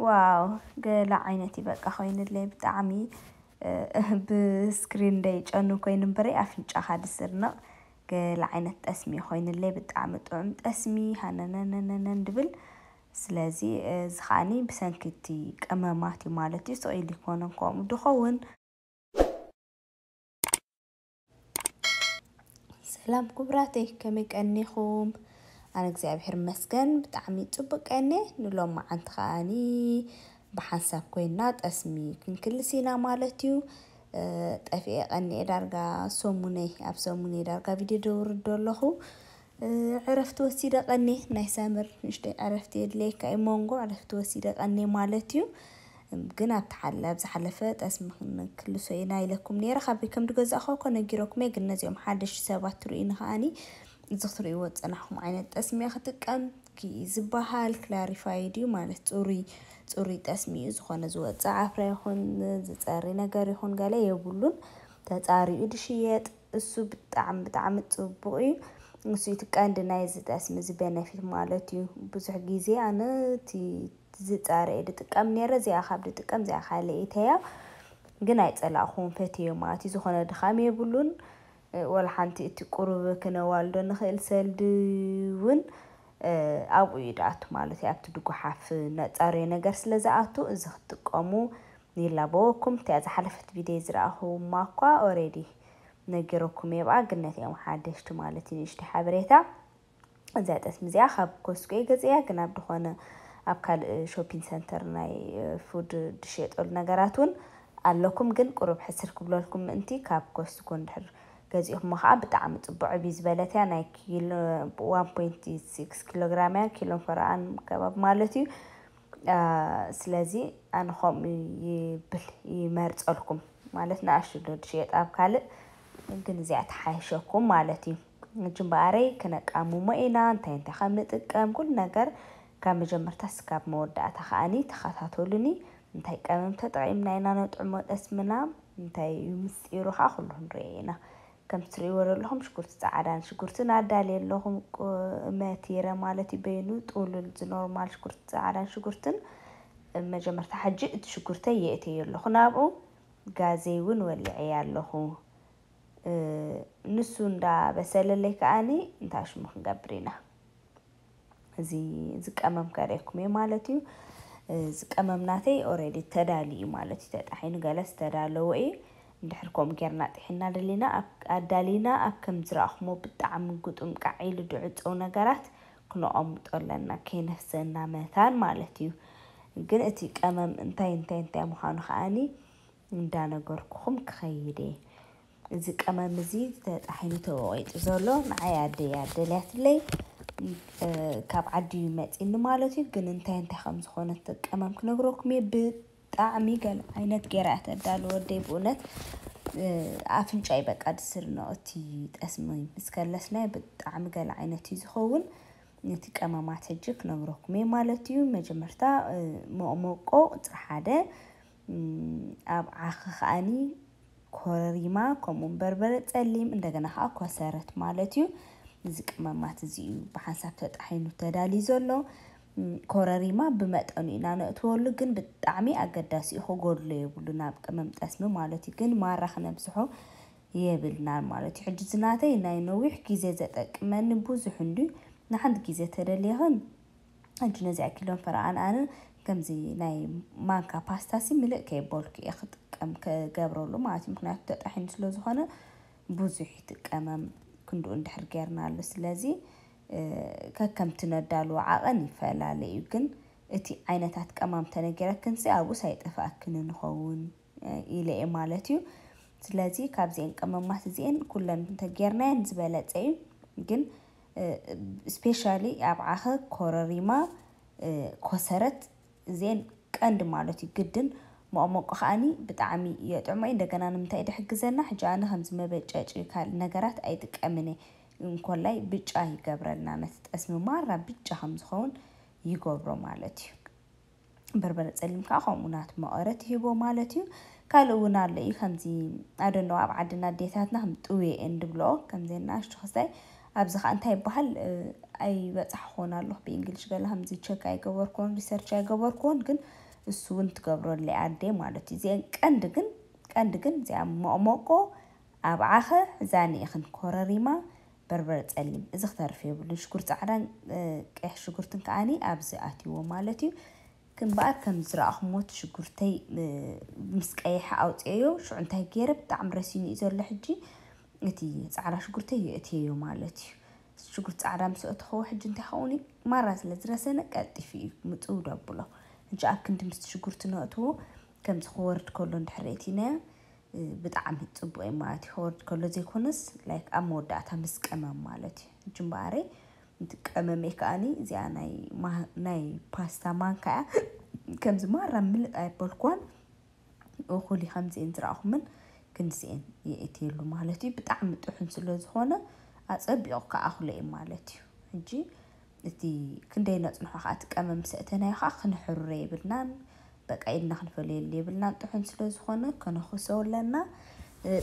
ዋው፣ ገለ ዓይነት እዩ በቃ ኮይንለይ። ብጣዕሚ ብስክሪን ደይጨኑ ኮይኑ እምበረይ ኣፍንጫኻ ድስርንቕ። ገለ ዓይነት ጠስሚ ኮይንለይ፣ ብጣዕሚ ጥዑም ጠስሚ ሃነነነነነን ድብል። ስለዚ እዚ ከዓኒ ብሰንኪ እቲ ቀመማት እዩ ማለት እዩ። ስቕ ኢሉ ይኮነን ከምኡ ድኸውን። ሰላም ክቡራተይ፣ ከመይ ቀኒኹም? ኣነ እግዚኣብሔር ይመስገን ብጣዕሚ ጽቡቅ ቀነ። ንሎም መዓንቲ ከኣኒ ብሓንሳብ ኮይና ጠስሚ ክንክልስ ኢና ማለት እዩ። ጠፊኤ ቀኒኤ ዳርጋ ሰሙነይ፣ ኣብ ሰሙነይ ዳርጋ ቪድዮ ደውርዶ ኣለኹ። ዕረፍቲ ወሲደ ቀኔ፣ ናይ ሳመር ንእሽተይ ዕረፍቲ የድልየካ እዩ። መንጎ ዕረፍቲ ወሲደ ቀኔ ማለት እዩ። ግን ኣብቲ ሓለ-፣ ኣብ ዝሓለፈ ጠስሚ ክንክልሶ ኢና ኢለኩም ነይረ። ካበይ ከም ዝገዛእኹ እኮ ነጊረኩም እየ፣ ግን ነዚኦም ሓደሽቲ ሰባት ትርእዩ ንኸኣኒ፣ እዚ ክትርእይዎ ዝጸናሕኩም ዓይነት ጠስሚ እየ ክጥቀም። ኪ ዝበሃል ክላሪፋይድ እዩ ማለት ጽሩይ፣ ጽሩይ ጠስሚ እዩ። ዝኾነ ዝወጽእ ዓፍራ ይኹን ዝጸሪ ነገር ይኹን ገለ የብሉን። ተጻሪኡ ድሽየጥ፣ እሱ ብጣዕሚ፣ ብጣዕሚ ጽቡቕ እዩ። እሱ እቲ ቀንዲ ናይዚ ጠስሚ እዚ ቤነፊት ማለት እዩ። ብዙሕ ግዜ ኣነ እቲ ዝጻረ እየ ድጥቀም ነይረ። እዚኣ ካብ ድጥቀም እዚኣ ካልእ እተያ ግን ኣይጸላእኹም፣ ፈትዮ ማለት እዩ። ዝኾነ ድኻም የብሉን። ወላ ሓንቲ እቲ ቁሩብ ክነዋልዶ ንኽእል ሰልዲ እውን ኣብኡ እዩ ድኣቱ ማለት እዩ። ኣብቲ ድጉሓፍ ነጻርዮ ነገር ስለ ዝኣቱ እዚ ክትጥቀሙ ይላበወኩም። እቲኣ ዝሓለፈት ቪድዮ ዝረኣኹማ እኳ ኦሬዲ ነጊረኩም እየ ብኣ፣ ግን ነቲኦም ሓደሽቲ ማለት እዩ ንእሽተይ ሓበሬታ። እዚኣ ጠስሚ እዚኣ ካብ ኮስኮ እየ ገዚኣ፣ ግን ኣብ ድኾነ ኣብ ካልእ ሾፒንግ ሰንተር ናይ ፉድ ድሸጠሉ ነገራት እውን ኣለኩም፣ ግን ቁሩብ ሕስር ክብለልኩም ምእንቲ ካብ ኮስኮ እንድሕር ገዚእኹሞ ከዓ ብጣዕሚ ጽቡቕ ዕብይ ዝበለት እያ። ናይ ኪሎ ዋን ፖይንት ሲክስ ኪሎ ግራም እያ፣ ኪሎን ፈረቓን ከባቢ ማለት እዩ። ስለዚ ኣነ ከምኡ ይብል ይመርጸልኩም ማለት ንኣሽቱ ዶ ድሽየጥ ኣብ ካልእ ግን እዚኣ ትሓይሸኩም ማለት እዩ። ሕጂ እምበኣረይ ክነቃምሞ ኢና፣ እንታይ እንታይ ከም ንጥቀም ኩሉ ነገር ካብ መጀመርታ እስካብ መወዳእታ ከኣኒ ተኸታተሉኒ። እንታይ ቀመም ተጠቒምና ኢና ነጥዕሞ ጠስምና፣ እንታይ እዩ ምስጢሩ ከዓ ኩሉ ክንሪኦ ኢና። ከም ትርእይዎ ዘለኹም ሽጉርቲ ጻዕዳን ሽጉርትን ኣዳልየ ኣለኹም፣ ቁ-፣ መቲረ ማለት እዩ። በይኑ ጥውሉል ዝኖርማል ሽጉርቲ ጻዕዳን ሽጉርትን መጀመርታ ሕጂ እቲ ሽጉርተይ የእተዮ ኣለኹ ናብኡ። ጋዘይ እውን ወሊዐ ኣለኹ። እ፣ ንሱ እንዳበሰለለይ ከኣኒ እንታይ ሽሙ ክንገብር ኢና። እዚ ዝቀመም ከርእየኩም እየ ማለት እዩ። እዚ ቀመም ናተይ ኦሬዲ ተዳሊ እዩ ማለት እዩ። ተጣሒኑ ገለስ ተዳለወ እዩ። እንድሕር ከምኡ ጌርና ጥሒና ደሊና ኣብ-፣ ኣዳሊና ኣብ ከም ዝረኣኹሞ ብጣዕሚ ግጡም ቃዕ ኢሉ ድዕፀው ነገራት ክነቐምጦ ኣለና፣ ከይነፍሰና መታን ማለት እዩ። ግን እቲ ቀመም እንታይ እንታይ እንታይ ምዃኑ ከኣኒ እንዳነገርኩኹም ክኸይድ እየ። እዚ ቀመም እዚ ተጣሒኑ ተወቒጡ ዘሎ ንዓይ ኣደይ ኣደልያትለይ፣ እ፣ ካብ ዓዲ እዩ መፂኒ ማለት እዩ። ግን እንታይ እንታይ ከም ዝኾነ እቲ ቀመም ክነግረኩም እየ። ብጣዕሚ ገለ ዓይነት ጌራ እያ ተዳሉ ወደይ ብእውነት፣ እ፣ ኣፍንጫይ በቃ ድስርኖ እቲ ጠስሚ ምስ ከለስናዮ ብጣዕሚ ገለ ዓይነት እዩ ዝኸውን። ነቲ ቀመማት ሕጂ ክነግረኩም እየ ማለት እዩ። መጀመርታ፣ እ፣ መቕመቆ ቁፅሪ ሓደ፣ እም፣ ኣብ ዓኺ ከኣኒ ኮረሪማ፣ ከምኡውን በርበረ ጸሊም፣ እንደገና ከኣ ኮሰረት ማለት እዩ። እዚ ቀመማት እዚ እዩ ብሓንሳብ ተጣሒኑ ተዳልዩ ዘሎ። እም፣ ኮረሪማ ብመጠኑ ኢና ነእትወሉ፣ ግን ብጣዕሚ ኣገዳሲ እዩ፣ ክጎድሎ የብሉን ኣብ ቀመም ጠስሚ ማለት እዩ። ግን ማራ ክነብዝሖ የብልናን ማለት እዩ። ሕጂ እዚ ናተይ ናይ ነዊሕ ግዜ ዘጠቅመኒ ብዙሕ እንድዩ፣ ንሓንቲ ግዜ ተደልየኽን ሕጂ ነዚኣ ኪሎን ፈረቓን ኣነ ከምዚ ናይ ማንካ ፓስታ ሲ ምልእ ከየበልኩ እየ ክጥቀም፣ ክገብረሉ ማለት እዩ። ምኽንያቱ ተጣሒኑ ስለ ዝኾነ ብዙሕ ይጥቀመም ክንድኡ እንድሕር ጌርናሉ። ስለዚ፣ እ፣ ከከምቲ ነዳልዎ ዓቐን ይፈላለ እዩ። ግን እቲ ዓይነታት ቀማም ተነጊረክን ሲ ኣብኡስ ኣይጠፍኣክን ንኸውን ኢለ እየ ማለት እዩ። ስለዚ ካብዚኤን ቀመማት እዚኤን ኩለን እንተጌርናየን ዝበለጸ እዩ። ግን፣ እ፣ ስፔሻሊ ኣብ ዓኸ ኮረሪማ፣ እ፣ ኮሰረት እዚኤን ቀንዲ ማለት እዩ። ግድን መቐመቆ ከኣኒ ብጣዕሚ የጥዕሞ እዩ። እንደገና ንምንታይ ድሕግዘና? ሕጂ ኣነ ከምዚ መበጨጭ ካልእ ነገራት ኣይጥቀምን እየ። እንኮላይ ብጫ ይገብረልና፣ ነቲ ጠስሚ ማራ ብጫ ከም ዝኸውን ይገብሮ ማለት እዩ። በርበረ ጸሊም ከኣ ከምኡ ናቱ መቐረት ይህቦ ማለት እዩ። ካልእ እውን ኣሎ እዩ፣ ከምዚ ኣደኖ ኣብ ዓድና ኣዴታትና ከም ጥውየ እየን ድብልኦ፣ ከምዚ ንኣሽቱ ክስታይ ኣብዚ ከኣ እንታይ ይበሃል፣ እ፣ ኣይበጻሕኩዎን ኣለኹ ብእንግሊሽ ገለ ከምዚ ቸክ ኣይገበርኩዎን፣ ሪሰርች ኣይገበርኩዎን፣ ግን እሱ እውን ትገብረለይ ኣደ ማለት እዩ። እዚአን ቀንዲ ግን ቀንዲ ግን እዚኣ መቕመቆ፣ ኣብ ዓኸ፣ ሕዛኒ ኢኽን ኮረሪማ፣ በርበረ ጸሊም፣ እዚ ክተርፍ የብሉን። ሽጉርቲ ጻዕዳን ቀይሕ ሽጉርትን ከዓኒ ኣብዚ ኣትይዎ ማለት እዩ። ክንበኣር ከም ዝረኣኹሞ እቲ ሽጉርተይ ምስ ቀይሐ ኣውፅኤዮ። ሽዑ እንታይ ገይረ፣ ብጣዕሚ ረሲኑ እዩ ዘሎ ሕጂ። እቲ ጻዕዳ ሽጉርተይ የእትየዮ ማለት እዩ። ሽጉርቲ ጻዕዳ ምስ ኣእተኸዎ ሕጂ እንታይ ኸውን እዩ፣ ማራ ስለ ዝረሰነ ቀልጢፉ እዩ ምፅው ደብሎ። ሕጂ ኣብ ክንዲ ምስቲ ሽጉርቲ ነእትዎ፣ ከምዚ ክወርድ ከሎ እንድሕር ርእቲናዮ ብጣዕሚ ፅቡቅ እዩ ማለት እዩ። ክወርድ ከሎ ዘይኮነስ ላይክ ኣብ መወዳእታ ምስ ቀመም ማለት እዩ። ሕጂ እምበኣረይ እቲ ቀመመይ ከዓኒ እዚኣ ናይ ማ- ናይ ፓስታ ማንካ እያ። ከምዚ ማራ ምልጥ ኣይበልኳን። እኹሊ ከምዚኤን ዝረኣኹምን ክንዚኤን የእትየሉ ማለት እዩ። ብጣዕሚ ጥሑን ስለ ዝኾነ ኣፀቢቑ ከኣኽሎ እዩ ማለት እዩ። ሕጂ እቲ ክንደይ ነፅንሖ ከዓ እቲ ቀመም ሰእተናዮ ከዓ ክንሕሩረ የብልናን። በቃ ኢድና ክንፈለየሉ የብልናን። ጥሑን ስለ ዝኾነ ከነኹሶ ኣለና።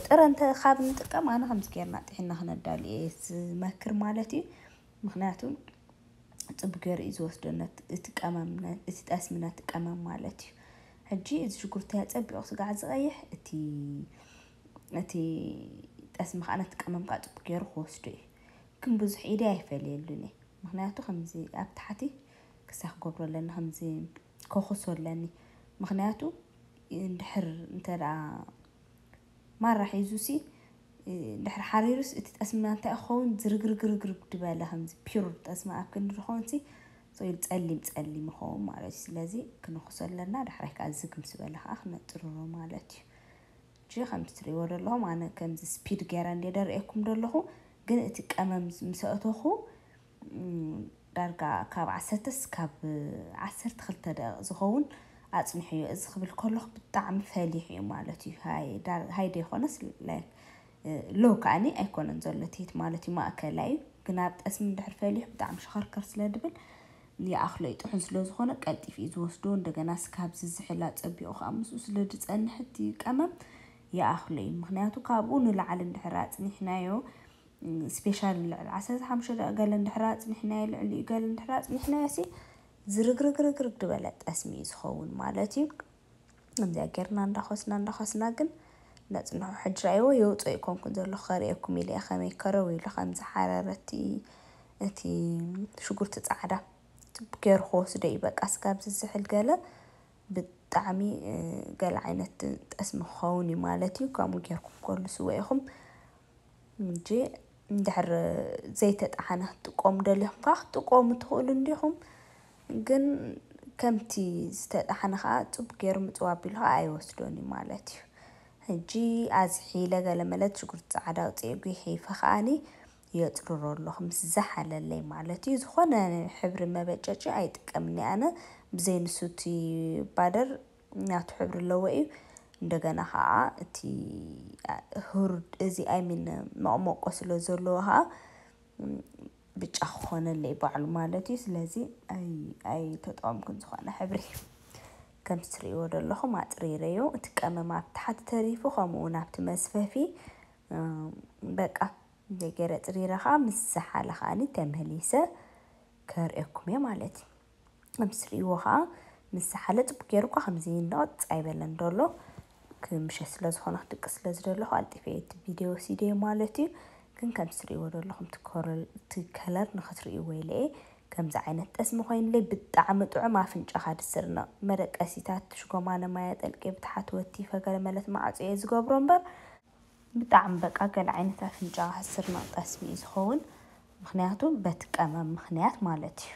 ጥረ እንተ ካብ ንጥቀም ኣነ ከምዚ ጌርና ጥሒና ክነዳሉ እየ ዝመክር ማለት እዩ። ምክንያቱ ፅቡቅ ገይሩ እዩ ዝወስዶ ነት- እቲ ቀመም ነ- እቲ ጠስሚ ነቲ ቀመም ማለት እዩ። ሕጂ እዚ ሽጉርተይ ኣፀቢቑ ስጋዕ ዝቐይሕ እቲ እቲ ጠስሚ ከዓ ነቲ ቀመም ከዓ ፅቡቅ ገይሩ ክወስዶ እዩ። ግን ብዙሕ ኢደ ኣይፈልየሉን እየ። ምክንያቱ ከምዚ ኣብ ታሕቲ ክሳብ ክገብሮ ኣለኒ፣ ከምዚ ከኹሶ ኣለኒ። ምክንያቱ እንድሕር እንተ ደኣ ማራ ሒዙ ሲ እንድሕር ሓሪሩስ እቲ ጠስምና እንታይ ክኸውን ዝርግርግርግርግ ዝበለ ከምዚ ፒውር ጠስሚ ኣብ ክንዲ ዝኸውን ሲ ሶይል ጸሊም ጸሊም ይኸውን ማለት እዩ። ስለዚ ክንኹሶ ኣለና። ዳሕራይ ከዓ ዝግ ምስ በለ ከዓ ክነጥርሮ ማለት እዩ። እጂ ከም ትሪእዎ ዘለኹም ኣነ ከምዚ ስፒድ ገይረ እንደ ደርእየኩም ዘለኹ ግን እቲ ቀመም ምስ ኣእተኹ ዳርጋ ካብ ዓሰርተ እስካብ ዓሰርተ ክልተ ደቂቕ ዝኸውን ኣፅንሕዮ። እዚ ክብል ከለኹ ብጣዕሚ ፈሊሕ እዩ ማለት እዩ። ሃይ ዳር- ሃይ ደይኮነስ ላይክ ሎ ከዓኒ ኣይኮነን ዘሎ ትሂት ማለት እዩ፣ ማእከላይ እዩ። ግን ኣብ ጠስሚ እንድሕር ፈሊሑ ብጣዕሚ ሸኸርከር ስለ ድብል ይኣኽሎ እዩ። ጥሑን ስለ ዝኾነ ቀልጢፉ እዩ ዝወስዶ። እንደገና ስካብ ዝዝሕል ኣፀቢቑ ከዓ ምስኡ ስለ ዝፀንሕ እቲ ቀመም ይኣኽሎ እዩ። ምክንያቱ ካብኡ ንላዕሊ እንድሕር ኣፅኒሕናዮ ስፔሻል ልዕሊ ዓሰርተ ሓሙሽተ ደቂ ገለ እንድሕር ኣፅኒሕናዮ ልዕሊኡ ገለ እንድሕር ኣፅኒሕናዮ ሲ ዝርግርግርግርግ ዝበለ ጠስሚ እዩ ዝኸውን ማለት እዩ። ከምዚኣ ጌርና እንዳኾስና እንዳኾስና ግን ነፅንሖ። ሕጂ ራእይዎ የውፅኦ ይኮንኩን ዘለኹ ከርእየኩም ኢለ እየ ከመይ ከረው ኢሉ ከም ዝሓረረ እቲ እቲ ሽጉርቲ ፃዕዳ ገይሩ ክወስዶ እዩ። በቃ ስጋብ ዝዝሕል ገለ ብጣዕሚ ገለ ዓይነት ጠስሚ ክኸውን እዩ ማለት እዩ። ከምኡ ጌርኩም ከሉ ስወ ኢኹም እንጂ እንድሕር ዘይተጣሓነ ክትጥቀሙ ደሊኹም ከዓ ክትጥቀሙ ትኽእሉ እንዲኹም። ግን ከምቲ ዝተጣሓነ ከዓ ፅቡቅ ገይሩ ምፅው ኣቢሉ ከዓ ኣይወስዶን እዩ ማለት እዩ። ሕጂ ኣዝሒለ ገለ መለት ሽጉርቲ ፃዕዳ ኣውፅኤ ጉሒፈ ከዓኒ የፅርሮ ኣለኹ ምስ ዝሓለለይ ማለት እዩ። ዝኾነ ሕብሪ መበጨጪ ኣይጥቀምን ኣነ ብዘይ ንሱ እቲ ባደር ናቱ ሕብሪ ኣለዎ እዩ። እንደገና ከዓ እቲ ህሩድ እዚ ኣይሚን መቕመቆ ስለ ዘለዎ ከዓ ብጫ ክኾነለይ ባዕሉ ማለት እዩ። ስለዚ ኣይተጠቐምኩን ዝኾነ ሕብሪ። ከም ትሪእዎ ዘለኹም ኣፅሪረዮ እቲ ቀመም ኣብ ታሕቲ ተሪፉ ከምኡ እውን ኣብቲ መስፈፊ በቃ ገይረ ፅሪረ ከዓ ምስ ዝሓለ ከዓኒ ተመሊሰ ከርእየኩም እየ ማለት እዩ። ከም ትሪእዎ ከዓ ምስ ዝሓለ ፅቡቅ ገይሩ እኳ ከምዚ ንቕፅ ኣይበለን ደሎ ክምሸ ስለ ዝኾነ ክድቂ ስለ ዝደለኹ ኣልጢፈ እቲ ቪድዮ ሲደ ማለት እዩ። ግን ከም ትሪእዎ ዘለኹም እቲ ከለር ንክትርእይዎ ኢለ እየ ከምዚ ዓይነት ጠስሚ ኮይኑለይ ብጣዕሚ ጥዑም ኣፍንጫኻ ድስርነቕ መደቀሲታት ሽጎማነ ማያ ጠልቂ ብትሓት ወቲፈ ገለ መለት ማዕፆ እየ ዝገብሮ እምበር ብጣዕሚ በቃ ገለ ዓይነት ኣፍንጫ ስርናቕ ጠስሚ እዩ ዝኸውን። ምክንያቱ በቲ ቀመም ምክንያት ማለት እዩ።